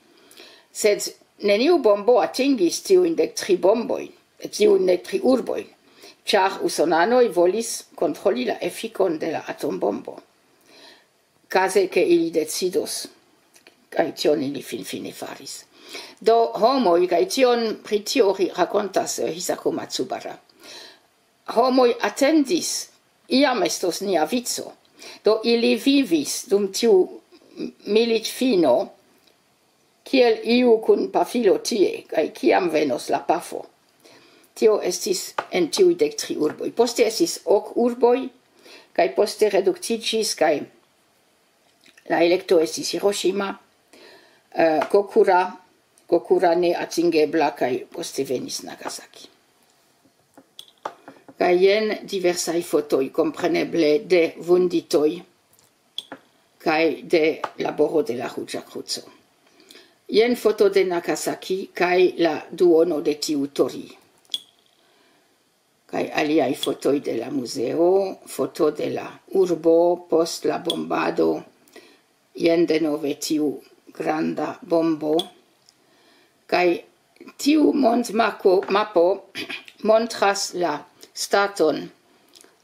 Sed neniu bombo atingis tiujn dek tri bombojn, tiujn dek tri urbojn, ĉar usonanoj volis kontroli la efikon de la atombombo. Kaze, ke ili decidos, kaj tion ili finfine faris. Do homoj, kaj tion, pri tio ri-, rakontas, eh, Hisako Matsubara. Homoj atendis, iam estos nia vico. Do ili vivis dum tiu militfino, kiel iu kun pafilo tie, kaj kiam venos la pafo. Tio estis en tiuj dek tri urboj. Poste estis ok urboj, kaj poste reduktiĝis, kaj la elekto estis Hiroshima, Eh, Kokura, Kokura ne atingebla, kaj poste venis Nagasaki. Kaj jen diversaj fotoj, kompreneble de vunditoj kaj de laboro de la Ruĝa Kruco. Jen foto de Nagasaki kaj la duono de tiu Tori. Kaj aliaj fotoj de la muzeo, foto de la urbo post la bombado, jen denove tiu granda bombo. Kaj tiu montmapo, mapo montras la staton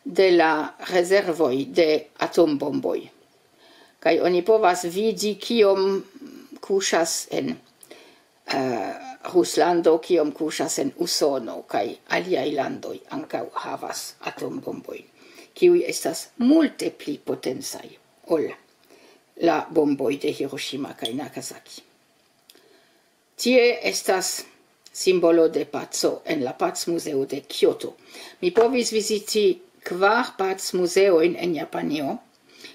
de la rezervoj de atombomboj. Kaj oni povas vidi, kiom kuŝas en, eh, Ruslando, kiom kuŝas en Usono, kaj aliaj landoj ankaŭ havas atombombojn, kiuj estas multe pli potencaj ol la bomboj de Hiroshima kaj Nagasaki. Tie estas simbolo de paco en la Pacmuzeo de Kyoto. Mi povis viziti kvar pacmuzeojn en Japanio,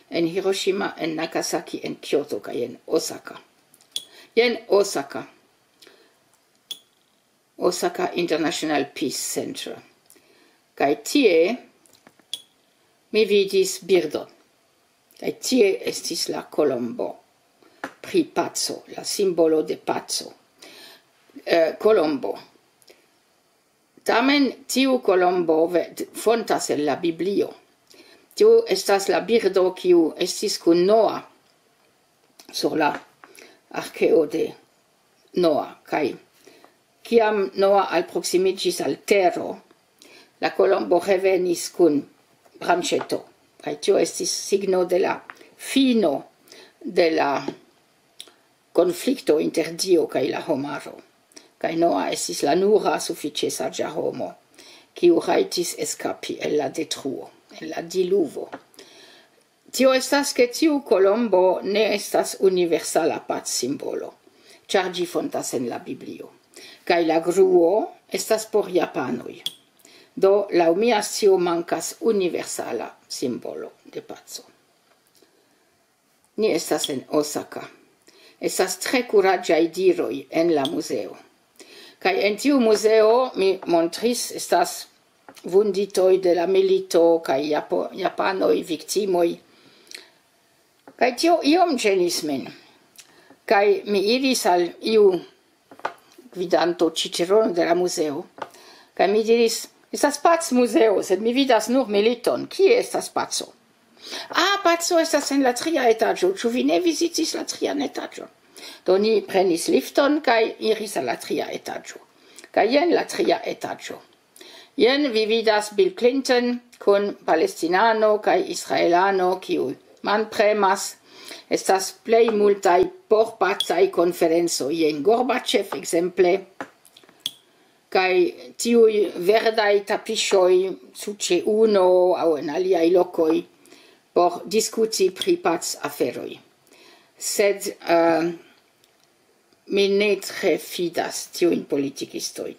en Hiroshima, en Nagasaki, en Kyoto kaj en Osaka. Jen Osaka. Osaka International Peace Center. Kaj tie mi vidis birdon. Kaj tie estis la kolombo pri paco, la simbolo de paco. Eh, kolombo. Tamen tiu kolombo ve-, fontas el la Biblio. Tiu estas la birdo, kiu estis kun Noa sur la arkeo de Noa. Kaj kiam Noa alproksimiĝis al tero, la kolombo revenis kun branĉeto. Kaj tio estis signo de la fino de la konflikto inter Dio kaj la homaro. Kaj Noa estis la nura sufiĉe saĝa homo, kiu rajtis eskapi el la detruo, el la diluvo. Tio estas, ke tiu kolombo ne estas universala pacsimbolo, ĉar ĝi fontas en la Biblio. Kaj la gruo estas por japanoj. Do, laŭ mia scio, mankas universala simbolo de paco. Ni estas en Osaka. Estas tre kuraĝaj diroj en la muzeo. Kaj en tiu muzeo, mi montris, estas vunditoj de la milito kaj Japo-, japanoj, viktimoj. Kaj tio iom ĝenis min. Kaj mi iris al iu gvidanto, ĉiĉerono de la muzeo. Kaj mi diris: "Estas pacmuzeo, sed mi vidas nur militon. Kie estas paco?" "Ah, paco estas en la tria etaĝo. Ĉu vi ne vizitis la trian etaĝon?" Do ni prenis lifton kaj iris al la tria etaĝo. Kaj jen la tria etaĝo. Jen vi vidas Bill Clinton kun palestinano kaj israelano, kiu manpremas. Estas plej multaj porpacaj konferencoj, jen Gorbachev, ekzemple. Kaj tiuj verdaj tapiŝoj sur ĉe uno aŭ en aliaj lokoj por diskuti pri pacaferoj. Sed, eh, mi ne tre fidas tiujn politikistojn.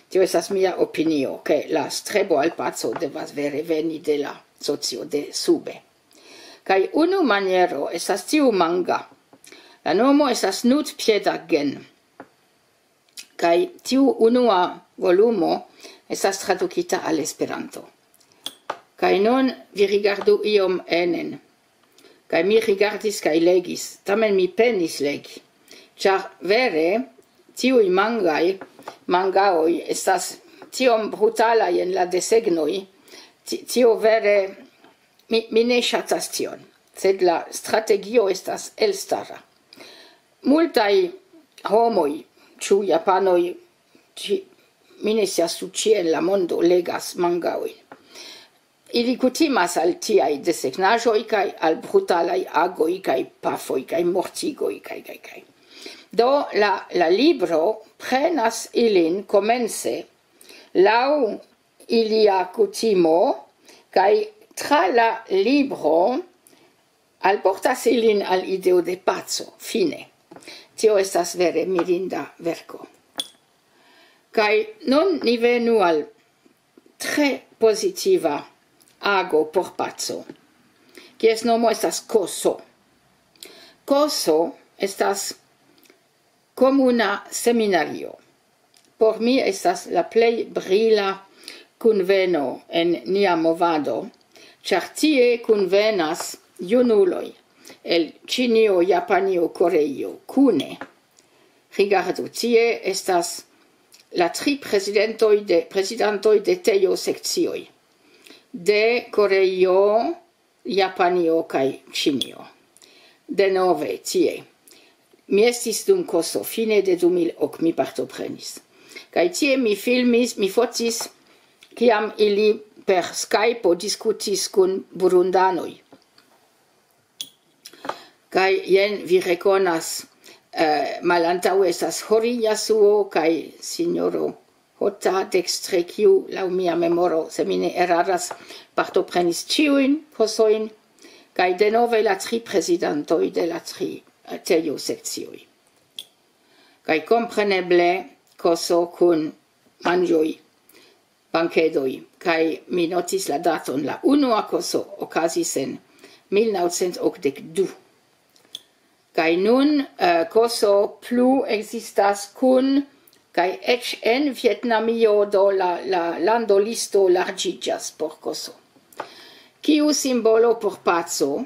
Tio estas mia opinio, ke la strebo al paco devas vere veni de la socio de sube. Kaj unu maniero estas tiu manga. La nomo estas Nutpiedagen. Kaj tiu unua volumo estas tradukita al Esperanto. Kaj nun vi rigardu iom enen. Kaj mi rigardis kaj legis, tamen mi penis legi, ĉar vere tiuj mangaj, mangaoj estas tiom brutalaj en la desegnoj, ti-, tio vere, mi, mi ne ŝatas tion, sed la strategio estas elstara. Multaj homoj, ĉu japanoj, ĉi-, mi ne scias, ĉu ĉie en la mondo legas mangaojn. Ili kutimas al tiaj desegnaĵoj kaj al brutalaj agoj kaj pafoj kaj mortigoj kaj, kaj, kaj. Do la, la libro prenas ilin komence laŭ ilia kutimo, kaj tra la libro alportas ilin al ideo de paco, fine. Tio estas vere mirinda verko. Kaj nun ni venu al tre pozitiva ago por paco, kies nomo estas Koso. Koso estas Komuna seminario por mi estas la plej brila kunveno en nia movado, ĉar tie kunvenas junuloj el Ĉinio, Japanio, Koreio kune. Rigardu, tie estas la tri prezidentoj de, prezidantoj de tejo sekcioj de Koreio, Japanio kaj Ĉinio. Denove tie. Mi estis dum koso, fine de du mil ok mi partoprenis. Kaj tie mi filmis, mi fotis, kiam ili per Skype diskutis kun burundanoj. Kaj jen vi rekonas, eh, malantaŭe estas Hori Yasuo kaj sinjoro Hota dekstre, kiu laŭ mia memoro, se mi ne eraras, partoprenis ĉiujn kosojn, kaj denove la tri prezidantoj de la tri, eh, tejo sekcioj. Kaj kompreneble koso kun manĝoj, bankedoj, kaj mi notis la daton. La unua koso okazis en mil naŭcent okdek du. Kaj nun, eh, koso plu ekzistas kun, kaj eĉ en Vjetnamio, do la, la landolisto larĝiĝas por koso. Kiu simbolo por paco?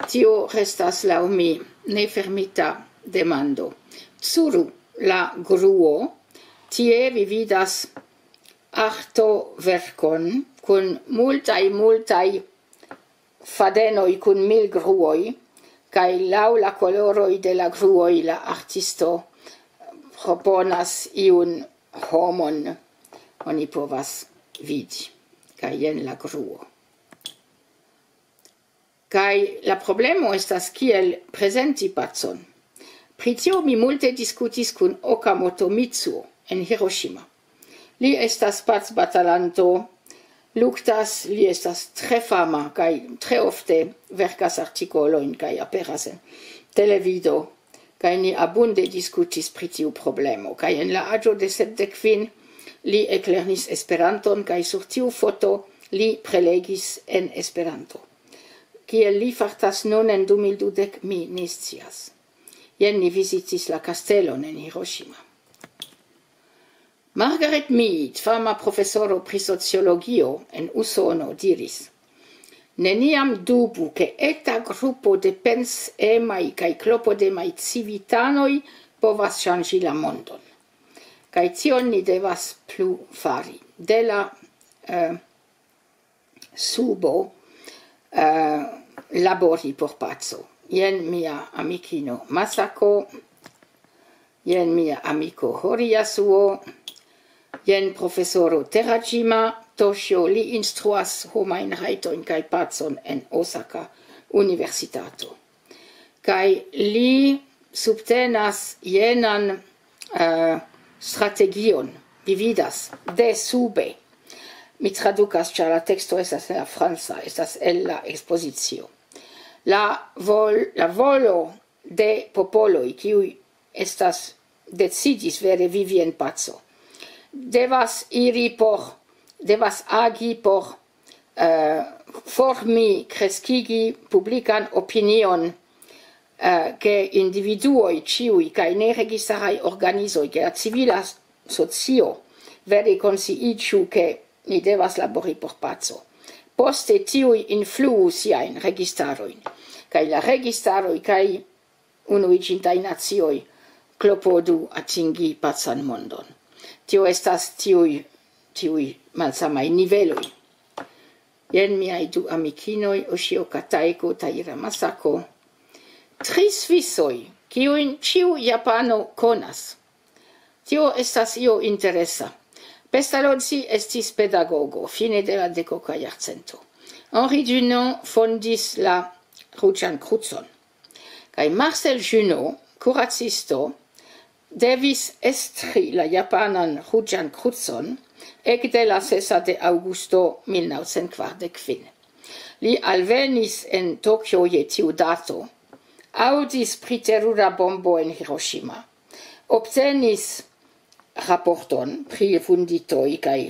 Tio restas laŭ mi nefermita demando. Tsuru, la gruo, tie vi vidas artoverkon kun multaj, multaj fadenoj kun mil gruoj, kaj laŭ la koloroj de la gruoj la artisto proponas iun homon, oni povas vidi. Kaj jen la gruo. Kaj la problemo estas, kiel prezenti pacon. Pri tio mi multe diskutis kun Okamoto Mitsuo en Hiroshima. Li estas pacbatalanto, luktas, li estas tre fama kaj tre ofte verkas artikolojn kaj aperas en televido. Kaj ni abunde diskutis pri tiu problemo. Kaj en la aĝo de sepdek kvin li eklernis Esperanton, kaj sur tiu foto li prelegis en Esperanto. Kiel li fartas nun en du mil dudek, mi ne scias. Jen ni vizitis la kastelon en Hiroshima. Margaret Mead, fama profesoro pri sociologio en Usono, diris: "Neniam dubu, ke eta grupo de pensemaj kaj klopodemaj civitanoj povas ŝanĝi la mondon." Kaj tion ni devas plu fari. De la, eh, subo, eh, labori por paco. Jen mia amikino Masako, jen mia amiko Hori Yasuo, jen profesoro Terajima Toshio, li instruas homajn rajtojn kaj pacon en Osaka Universitato. Kaj li subtenas jenan, eh, strategion, vi vidas, de sube. Mi tradukas, ĉar la teksto estas en la franca, estas el la ekspozicio. La vol-, la volo de popoloj, kiuj estas, decidis vere vivi en paco, devas iri por, devas agi por, eh, formi, kreskigi publikan opinion, eh, ke individuoj ĉiuj kaj neregistaraj organizoj, ke la civila socio vere konsciiĝu, ke ni devas labori por paco. Poste tiuj influu siajn registarojn, kaj la registaroj kaj Unuiĝintaj Nacioj klopodu atingi pacan mondon. Tio estas tiuj, tiuj malsamaj niveloj. Jen miaj du amikinoj, Oshio Kataiko, Taira Masako. Tri svisoj, kiujn ĉiu japano konas. Tio estas io interesa. Pestalozzi estis pedagogo fine de la dekoka jarcento. Henri Dunant fondis la Ruĝan Krucon. Kaj Marcel Junot, kuracisto, devis estri la japanan Ruĝan Krucon ekde la sesa de aŭgusto mil naŭcent kvardek kvin. Li alvenis en Tokio je tiu dato, aŭdis pri terura bombo en Hiroshima, obtenis raporton pri vunditoj kaj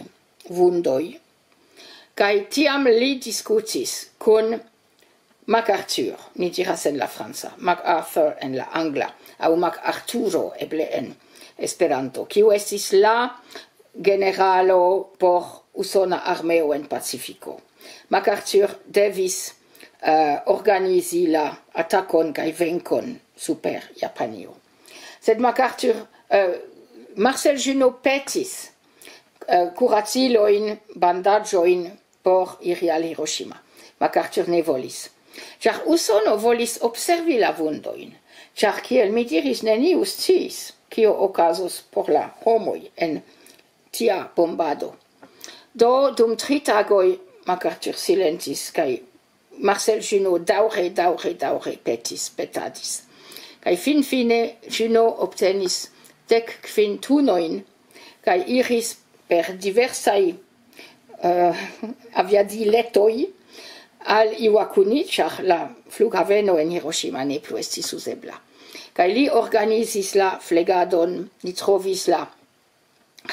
vundoj, kaj tiam li diskutis kun MacArthur, ni diras en la franca, MacArthur en la angla, aŭ MacArthuro eble en Esperanto, kiu estis la generalo por usona armeo en Pacifiko. MacArthur devis uh, organizi la atakon kaj venkon super Japanio. Sed MacArthur, uh, Marcel Junot petis uh, kuracilojn, bandaĝojn por iri al Hiroshima. MacArthur ne volis. Ĉar Usono volis observi la vundojn. Ĉar kiel mi diris, neniu sciis, kio okazos por la homoj en tia bombado. Do dum tri tagoj MacArthur silentis kaj Marcel Junot daŭre, daŭre, daŭre petis, petadis. Kaj finfine Junot obtenis dek kvin tunojn kaj iris per diversaj uh, aviadiletoj al Iwakuni, ĉar la flughaveno en Hiroshima ne plu estis uzebla. Kaj li organizis la flegadon, li trovis la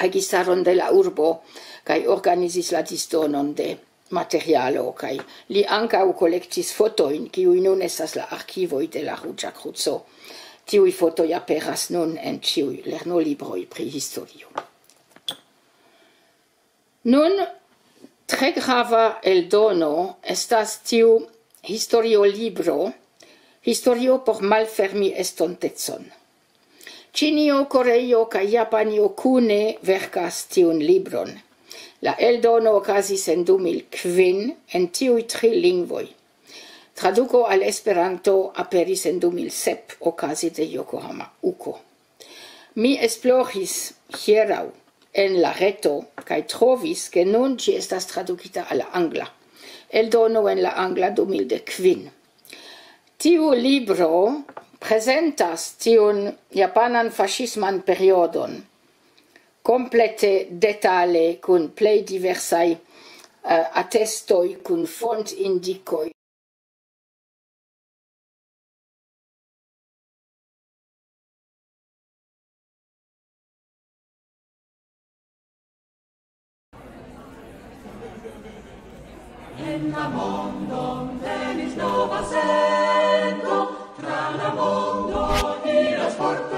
registaron de la urbo kaj organizis la disdonon de materialo, kaj li ankaŭ kolektis fotojn, kiuj nun estas la arkivoj de la Ruĝa Kruco. Tiuj fotoj aperas nun en ĉiuj lernolibroj pri historio. Nun, tre grava eldono estas tiu historiolibro, Historio por malfermi estontecon. Ĉinio, Koreio kaj Japanio kune verkas tiun libron. La eldono okazis en du mil kvin en tiuj tri lingvoj. Traduko al Esperanto aperis en du mil sep okaze de Yokohama Uko. Mi esploris hieraŭ en la reto kaj trovis, ke nun ĝi estas tradukita al la angla. Eldono en la angla du mil dek kvin. Tiu libro prezentas tiun japanan faŝisman periodon komplete detale kun plej diversaj uh, atestoj, kun fontindikoj. En la mondon venis nova sento, tra la mondo iras forte.